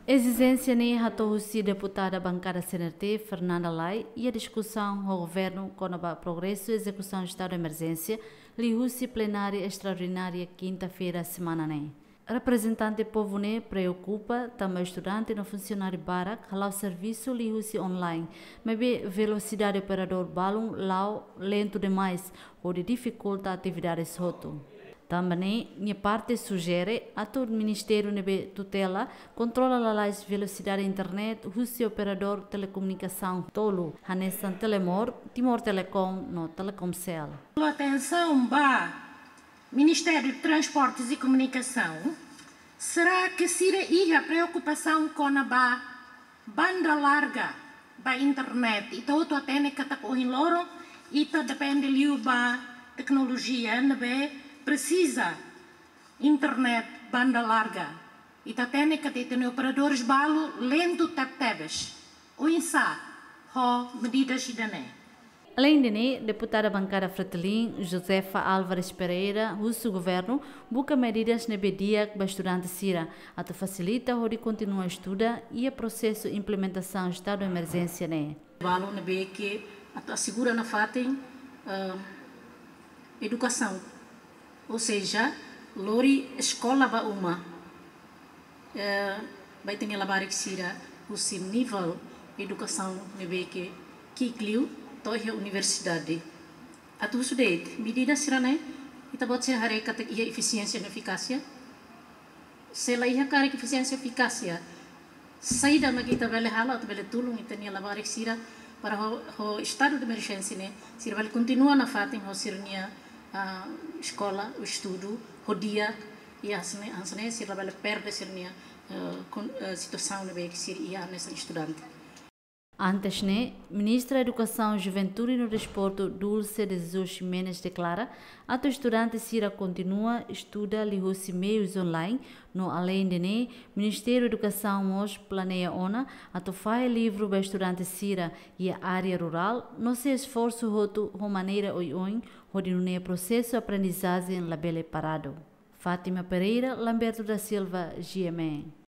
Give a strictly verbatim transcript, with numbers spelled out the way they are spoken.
Ezijénsia ne'e hato'o husi deputada bankada C N R T, Fernanda Lay, iha diskusaun ho governu kona-ba progresu ezekusaun estadu de emerjénsia, liuhusi plenária estraordinária kinta-feira semana ne'e. Reprezentante povu ne'e preokupa tanba estudante no funsionáriu barak hala'o servisu liuhusi online, maibé velosidade operadór balun la'o lentu demais, hodi difikulta atividades hotu. Tanba ne'e, nia parte sujere atu ministériu ne'ebé tutela kontrola lalais velosidade internet husi operadór telekomunikasaun tolu, hanesan Telemor, Timor Telecom no Telkomcel. Atensaun ba Ministériu Transportes e Komunikasaun, será que sira iha preokupasaun kona-ba banda larga ba internet? Ita hotu hatene katak ohin loron ita depende liu ba teknolojia ne'ebé presiza internet banda larga. Ita hatene katak ita-nia operadores balu lentu tebetebes. Oinsá ho medidas ida-ne'e? Aleinde ne'e, deputada bankada Fretilin, Josefa Álvares Pereira, husu governu buka medidas ne'ebé di'ak ba estudante sira, atu fasilita hodi kontinua estuda iha prosesu implementasaun estadu emerjénsia ne'e. Balun ne'ebé ke atu asegura nafatin, eh, edukasaun, ou seja, lori eskola ba uma. Eh, ba ita-nia labarik sira husi nivel edukasaun ne'ebé ke ki'ik liu to'o iha universidade. Atu husu de'it, medida sira-ne'e, ita-boot sira haree katak iha efisiénsia no efikásia? Se la iha karik efisiénsia efikásia, saida mak ita bele halo atu bele tulun ita-nia labarik sira para ho, ho estadu de emerjénsia ne'e, sira bele kontinua nafatin ho sira-nia, ah, eskola, estudu ho di'ak, i hanesan ne'e, hanesan ne'e sira bele perde sira-nia, eh, kon-, eh, situasaun ne'ebé ke sira iha hanesan estudante. Antes ne'e, Ministra Edukasaun, Juventude no Desportu, Dulce de Jesus Ximenes, deklara atu estudante sira kontinua estuda liuhusi meius online, no aleinde ne'e, Ministériu Edukasaun mós planeia ona atu fahe livru ba estudante sira iha área rurál, no sei esforsu hotu ho maneira oioin, hodi nune'e prosesu aprendizajen labele paradu. Fátima Pereira, Lamberto da Silva, G M N.